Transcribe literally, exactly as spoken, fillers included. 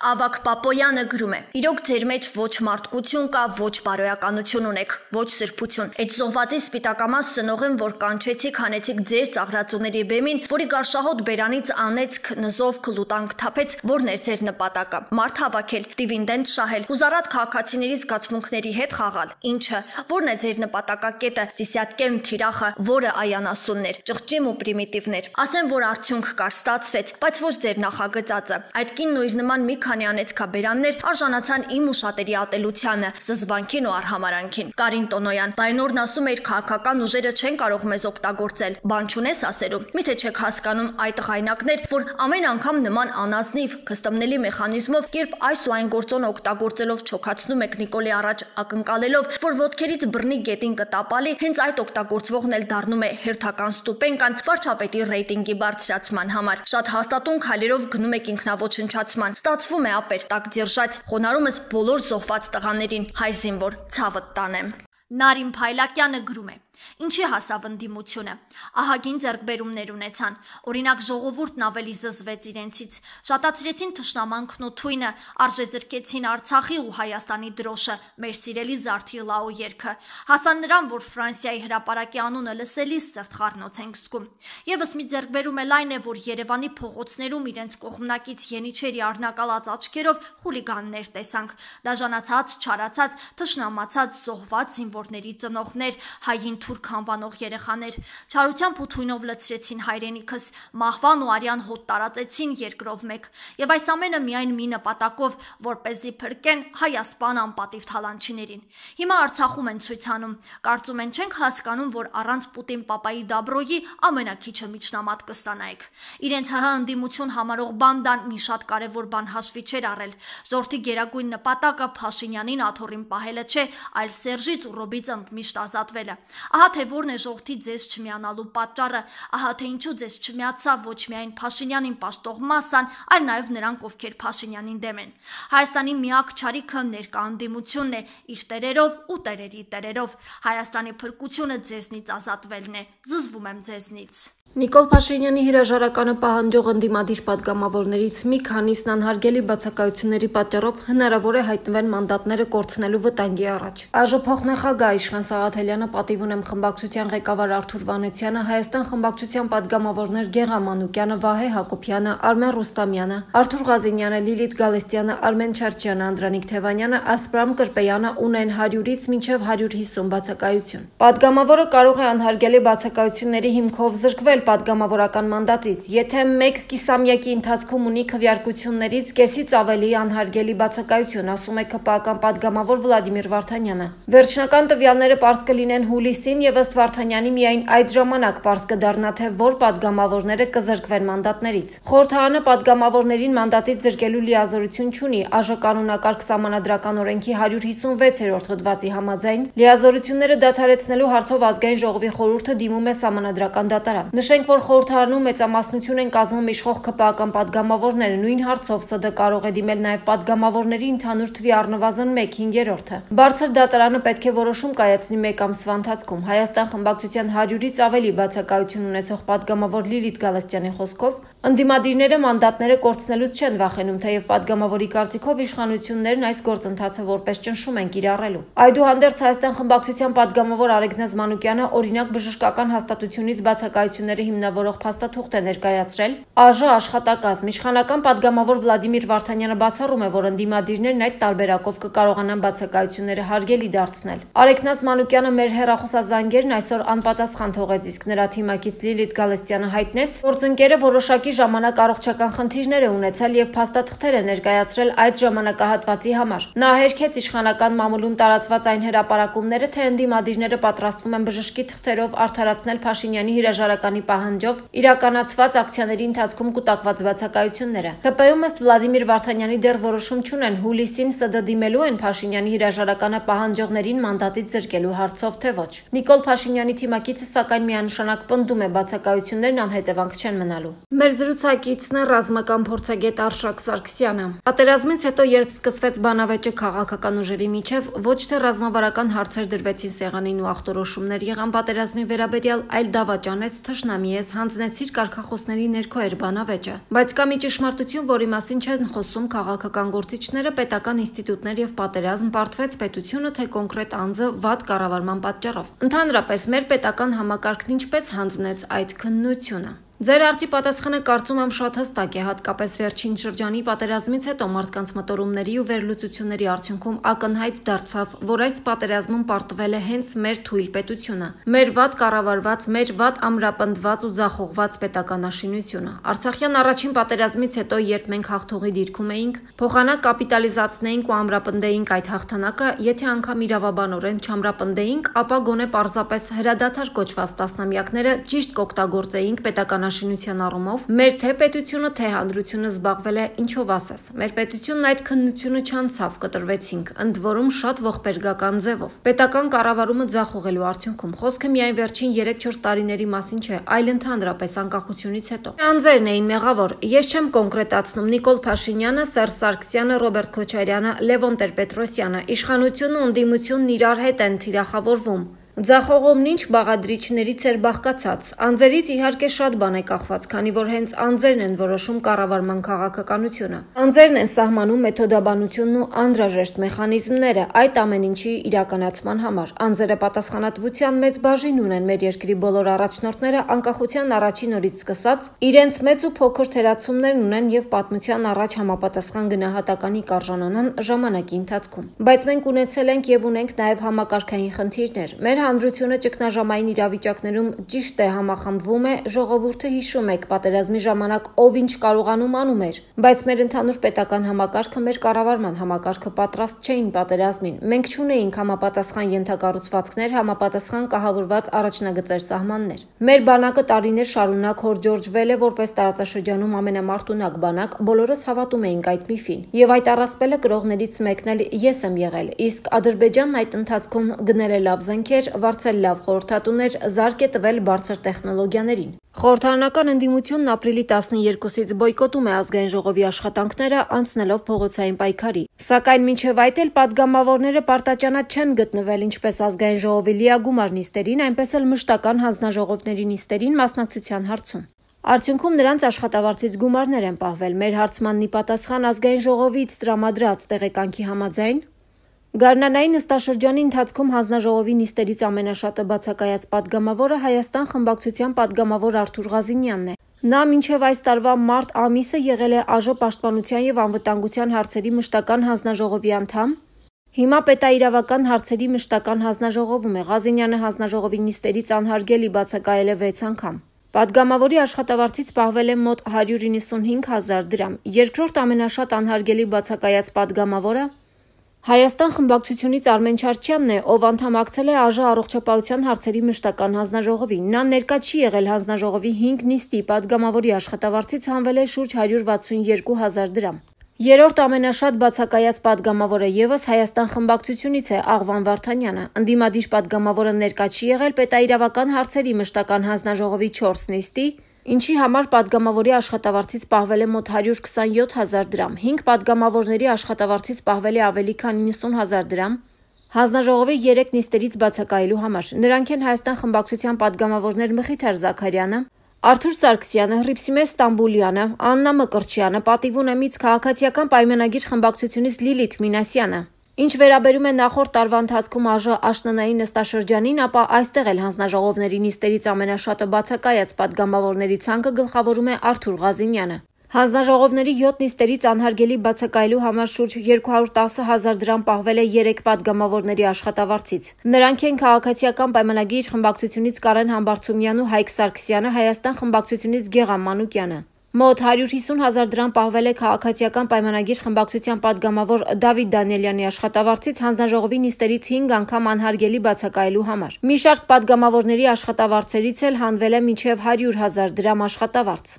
Ավագ Պապոյանը գրում է. Իրոք ձեր մեջ ոչ մարդկություն կա, ոչ բարոյականություն ունեք, ոչ սրբություն։ Այդ զոհվածի սպիտակամաս սնողեմ, որ կանչեցիք, հանեցիք ձեր ծաղրածուների բեմին, որի գարշահոտ բերանից անեցք նզով քլուտանք թափեց, որն էր ձեր նպատակը։ Մարդ հավաքել, դիվիդենդ շահել, հուզարատ քաղաքացիների զգացմունքների հետ խաղալ։ Ինչը, որն է ձեր նպատակակետը, դիսյատկեն թիրախը, որը այանասուններ, ճղճիմ ու պրիմիտիվներ։ Ասեմ, որ արդյունք կար, ստացվեց, բայց ոչ ձեր նախագծածը։ Այդ կինն ու իր նման մի քանի անեցքաբերաններ արժանացան իմ ու շատերի ատելությանը, զզվանքին ու արհամարանքին։ Կարին Տոնոյան, Բայնորն ասում էր քաղաքական ուժերը չեն կարող մեզ օգտագործել։ Բան չունես ասելու։ Միթե չեք հասկանում այդ ղայնակներ, որ ամեն անգամ նման անազնիվ, կստմնելի մեխանիզմով, երբ այս ու այն գործոնը օգտագործելով չոքացնում եք Նիկոլի առաջ ակնկալելով, որ ոտքերից բռնի գետին կտապալի, հենց այդ օգտագործվողն էլ դառնում է հերթական ստուպենկան վարչապետի ռեյտինգի բարձրացման համար։ Շատ հաստատուն քայլերով գնում եք ինքնաոչնչացման։ Ստացվում է ապեր, տակ ձիրժած, խոնարհումս բոլոր զոհված տղաներին, հայ զինվոր, ցավդ տանեմ։ Նարին Փայլակյանը գրում է. Ինչի հասավ ընդդիմությունը։ Ահագին ձեռքբերումներ ունեցան։ Օրինակ ժողովուրդն ավելի զզվեց իրենցից։ Շատացրեցին թշնամանքն ու թույնը, արժեզրկեցին Արցախի ու Հայաստանի դրոշը, մեր սիրելի Զարթիր Լաո երգը։ Հասան նրան, որ Ֆրանսիայի հրապարակի անունը լսելիս սրտխառնոց ենք զգում։ Եվս մի ձեռքբերում էլ այն է, որ Երևանի փողոցներում իրենց կողմնակից Ենիչերի առնակալած աչքերով խուլիգաններ տեսանք։ Դաժանացած, չարացած, թշնամացած, զոհված զինվորների ծնողներ, հային թուրք անվանող երեխաներ չարությամբ ու թույնով լցրեցին հայրենիքս, մահվան ու արյան հոտ տարածեցին երկրով մեկ, եւ այս ամենը միայն մի նպատակով, որպեսզի փրկեն հայասպան անպատիվ թալանչիներին։ Հիմա Արցախում են ցույց անում, կարծում են չենք հասկանում, որ առանց Պուտին պապայի Դաբրոյի ամենակիչը միջնամատ կստանայեք։ Իրենց ՀՀ ընդդիմություն համարող բանդան մի շատ կարևոր բան հաշվի չէր առել։ Ժողովրդի գերագույն նպատակը Փաշինյանին աթոռին պահելը չէ, այլ Սերժից ու Ռոբից ընդմիշտ ազատվելը։ Ահա թե որն է ժողովրդի ձեզ չմիանալու պատճառը, ահա թե ինչու ձեզ չմիացավ ոչ միայն Փաշինյանին պաշտող մասսան, այլ նաև նրանք, ովքեր Փաշինյանին դեմ են։ Հայաստանի միակ չարիքը ներկա ընդդիմությունն է, իր տերերով ու տերերի տերերով։ Հայաստանի փրկությունը ձեզնից ազատվելն է։ Զզվում եմ ձեզնից։ Նիկոլ Փաշինյանի հրաժարականը պահանջող ընդդիմադիր պատգամավորներից մի քանիսն անհարգելի բացակայությունների պատճառով հնարավոր է հայտնվեն մանդատները կորցնելու վտանգի առաջ։ ԱԺ փոխնախագահ Իշխան Սաղաթելյանը, պատիվ ունեմ խմբակցության ղեկավար Արթուր Վանեցյանը, Հայաստան խմբակցության պատգամավորներ Գեղամ Մանուկյանը, Վահե Հակոբյանը, Արմեն Ռուստամյանը, Արթուր Ղազինյանը, Լիլիթ Գալստյանը, Արմեն Չարչյանը, Անդրանիկ Թևանյանը, Ասպրամ Կրպեյանը ունեն հարյուրից մինչև հարյուր հիսուն բացակայություն։ Պատգամավորը կարող է անհարգելի բացակայությունների հիմքով զրկվել պատգամավորական մանդատից, եթե մեկ կիսամյակի ընթացքում ունի քվեարկություններից կեսից ավելի անհարգելի բացակայություն, ասում է ՔՊԱ-ական պատգամավոր Վլադիմիր Վարդանյանը։ Վերջնական տվյալները պարզ կլինեն հուլիսին եւ ըստ Վարդանյանի միայն այդ ժամանակ պարզ կդառնա, թե որ պատգամավորները կզրկվեն մանդատներից։ Խորհրդարանը պատգամավորներին մանդատից զրկելու լիազորություն չունի, ԱԺ կանոնակարգ սահմանադրական օրենքի հարյուր հիսունվեցերորդ հոդվածի համաձայն լիազորությունները դադարեցնելու հարցով ազգային ժողովի խորհուրդը դիմում է սահմանադրական դատարան։ Նշենք, որ խորհրդարանում մեծամասնություն են կազմում իշխող ՔՊԱ-ական պատգամավորները, նույն հարցով ՍԴ կարող է դիմել նաև պատգամավորների ընդհանուր թվի առնվազն մեկ հինգերորդը։ Բարձր դատարանը պետք է որոշում կայացնի մեկ ամսվա ընթացքում։ Հայաստան խմբակցության հարյուրից ավելի բացակայություն ունեցող պատգամավոր Լիլիթ Գալստյանի խոսքով, ընդդիմադիրները մանդատները կորցնելուց չեն վախենում, թեև պատգամավորի կարծիքով իշխանություններն այս գործընթացը որպես ճնշում են կիրառելու։ Այդուհանդերձ Հայաստան խմբակցության պատգամավոր Արեգնազ Մանուկյանը օրինակ բժշկական հաստատությունից բացակայությունները հիմնավորող փաստաթուղթ է ներկայացրել ԱԺ աշխատակազմ։ Իշխանական պատգամավոր Վլադիմիր Վարդանյանը բացառում է, որ ընդդիմադիրներն այդ տարբերակով կկարողանան բացակայությունները հարգելի դարձնել։ Արեգնազ Մանուկյանը մեր հեռախոսազանգերն այսօր անպատասխան թողեց, իսկ նրա թիմակից Լիլիթ Գալստյանը հայտնեց, որ ծնկերը որոշակի ժամանակ առողջական խնդիրներ է ունեցել եւ փաստաթղթեր է ներկայացրել այդ ժամանակահատվածի համար։ Նա հերքեց իշխանական մամուլում տարածված այն հրապարակումները, թե ընդդիմադիրները պատրաստվում են բժշկի թղթերով արդարացնել Փաշինյանի հրաժարականի պահանջով իրականացված ակցիաների ընթացքում կուտակված բացակայությունները։ ԿՊ-ում ըստ Վլադիմիր Վարդանյանի դեռ որոշում չունեն հուլիսին ՍԴ դիմելու են Փաշինյանի հրաժարականը պահանջողներին մանդատից զրկելու հարցով, թե ոչ։ Նիկոլ Փաշինյանի թիմակիցը սակայն միանշանակ պնդում է բացակայություններն անհետևանք չեն մնալու։ Մեր Զրուցակիցն է ռազմական փորձագետ Արշակ Սարգսյանը։ Պատերազմից հետո, երբ սկսվեց բանավեճը քաղաքական ուժերի միջև, ոչ թե ռազմավարական հարցեր դրվեցին սեղանին ու ախտորոշումներ եղան պատերազմի վերաբերյալ, այլ դավաճանեց, թշնամի ես, հանձնեցիր կարգախոսների ներքո էր բանավեճը։ Բայց կա մի ճշմարտություն, որի մասին չեն խոսում քաղաքական գործիչները, պետական ինստիտուտներ եւ պատերազմ, պարտվեց պետությունը, թե կոնկրետ անձը վատ կառավարման պատճառով։ Ընդհանրապես, մեր պետական համակարգն ինչպես հանձնեց այդ քննությունը։ Ձեր հարցի պատասխանը կարծում եմ շատ հստակ է, հատկապես վերջին շրջանի պատերազմից հետո մարդկանց մտորումների ու վերլուծությունների արդյունքում ակնհայտ դարձավ, որ այս պատերազմում պարտվել է հենց մեր թույլ պետությունը, մեր վատ կառավարված, մեր վատ ամրապնդված ու ձախողված պետականաշինությունը։ Արցախյան առաջին պատերազմից հետո, երբ մենք հաղթողի դիրքում էինք, փոխանակ կապիտալիզացնեինք ու ամրապնդեինք այդ հաղթանակը, եթե անգամ իրավաբանորեն չամրապնդեինք, ապա գոնե պարզապես հրադադար կոչված տասնամյակները ճիշտ կօգտագործեինք պետական շինության առումով, մեր թե պետությունը, թե հանրությունը զբաղվել է ինչով ասես։ Մեր պետությունն այդ քննությունը չանցավ, կտրվեցինք, ընդ որում շատ ողբերգական ձևով։ Պետական կառավարումը ձախողելու արդյունքում խոսքը միայն վերջին երեք-չորս տարիների մասին չէ, այլ ընդհանրապես անկախությունից հետո։ Անձերն էին մեղավոր։ Ես չեմ կոնկրետացնում Նիկոլ Փաշինյանը, Սերժ Սարգսյանը, Ռոբերտ Քոչարյանը, Լևոն Տեր-Պետրոսյանը։ Իշխանությունն ու ընդդիմությունն իրար հետ են թիրախավորվում։ Ձախողումն ինչ բաղադրիչներից էր բաղկացած։ Անձերից իհարկե շատ բան է կախված, քանի որ հենց անձերն են որոշում կառավարման քաղաքականությունը։ Անձերն են սահմանում մեթոդաբանությունն ու անհրաժեշտ մեխանիզմները այդ ամեն ինչի իրականացման համար։ Անձերը պատասխանատվության մեծ բաժին ունեն մեր երկրի բոլոր առաջնորդները անկախության առաջին օրից սկսած, իրենց մեծ ու փոքր թերացումներն ունեն եւ պատմության առաջ համապատասխան գնահատականի կարժանանան ժամանակի ընթացքում։ Բայց մենք ունեցել ենք եւ ունենք նաեւ համակարգային խնդիրներ։ Մեր հանրությունը ճգնաժամային իրավիճակներում ճիշտ է համախմբվում է, ժողովուրդը հիշում եք, պատերազմի ժամանակ ով ինչ կարողանում անում էր, բայց մեր ընդհանուր պետական համակարգը, մեր կառավարման համակարգը պատրաստ չէին պատերազմին։ Մենք չունեինք համապատասխան ենթակառուցվածքներ, համապատասխան կահավորված առաջնագծեր, սահմաններ։ Մեր բանակը տարիներ շարունակ հորջորջվել է որպես տարածաշրջանում ամենամարտունակ բանակ, բոլորս հավատում էինք այդ միֆին։ Եվ այդ առասպելը կրողներից մեկն էլ ես եմ եղել, իսկ Ադրբեջանն այդ ընթացքում գնել է լավ զենքեր, վարձել լավ խորհրդատուներ, զարկ է տվել բարձր տեխնոլոգիաներին։ Խորհրդարանական ընդդիմությունն ապրիլի տասներկուսից բոյկոտում է ազգային ժողովի աշխատանքները, անցնելով փողոցային պայքարի։ Սակայն մինչև այդ էլ պատգամավորները պարտաճանաչ չեն գտնվել ինչպես ազգային ժողովի լիագումար նիստերին, այնպես էլ մշտական հանձնաժողովների նիստերին մասնակցության հարցում։ Արդյունքում նրանց աշխատավարձից գումարներ են պահվել։ Մեր հարցմանն ի պատասխան ազգային ժողովից տրամադրած տեղեկանքի համաձայն Գարնանային նստաշրջանի ընթացքում հանձնաժողովի նիստերից ամենաշատը բացակայած պատգամավորը Հայաստան խմբակցության պատգամավոր Արթուր Ղազինյանն է։ Նա մինչև այս տարվա մարտ ամիսը եղել է ԱԺ պաշտպանության եւ անվտանգության հարցերի մշտական հանձնաժողովի անդամ։ Հիմա պետաիրավական հարցերի մշտական հանձնաժողովում է։ Ղազինյանը հանձնաժողովի նիստերից անհարգելի բացակայել է վեց անգամ։ Պատգամավորի աշխատավարձից պահվել է մոտ հարյուր իննսունհինգ հազար դրամ։ Երկրորդ ամենաշատ անհարգելի բացակայած պատգամավորը Հայաստան խմբակցությունից Արմեն Չարչյանն է, ով անդամակցել է ԱԺ առողջապահության հարցերի մշտական հանձնաժողովին։ Նա ներկա չի եղել հանձնաժողովի հինգ նիստի, պատգամավորի աշխատավարձից հանվել է շուրջ հարյուր վաթսունյոթ հազար դրամ։ Երրորդ ամենաշատ բացակայած պատգամավորը ևս Հայաստան խմբակցությունից է Աղվան Վարդանյանը։ Ընդդիմադիր պատգամավորը ներկա չի եղել պետաիրավական հարցերի մշտական հանձնաժողովի չորս նիստի, ինչի համար պատգամավորի աշխատավարձից պահվել է մոտ հարյուր քսանյոթ հազար դրամ, հինգ պատգամավորների աշխատավարձից պահվել է ավելի քան իննսուն հազար դրամ, հանձնաժողովի երեք նիստերից բացակայելու համար։ Նրանք են Հայաստան խմբակցության պատգամավորներ Մխիթար Զաքարյանը, Արթուր Սարգսյանը, Հռիփսիմե Ստամբուլյանը, Աննա Մկրտչյանը, պատիվ ունեմից քաղաքացիական պայմանագիր խմբակցությունից Լիլիթ Մինասյանը։ Ինչ վերաբերում է նախորդ տարվա ընթացքում ԱԺ աշնանային նստաշրջանին, ապա այստեղ էլ հանձնաժողովների նիստերից ամենաշատը բացակայած պատգամավորների ցանկը գլխավորում է Արթուր Ղազինյանը։ Հանձնաժողովների յոթ նիստերից անհարգելի բացակայելու համար շուրջ երկու հարյուր տասը հազար դրամ պահվել է երեք պատգամավորների աշխատավարձից։ Նրանք են քաղաքացիական պայմանագիր խմբակցությունից Կարեն Համբարձումյանն ու Հայկ Սարգսյանը, Հայաստան խմբակցությունից Գեղամ Մանուկյանը։ Մոտ հարյուր հիսուն հազար դրամ պահվել է քաղաքացիական պայմանագիր խմբակցության պատգամավոր Դավիթ Դանիելյանի աշխատավարձից հանձնաժողովի նիստերից հինգ անգամ անհարգելի բացակայելու համար։ Մի շարք պատգամավորների աշխատավարձերից էլ հանվել է մինչև հարյուր հազար դրամ աշխատավարձ։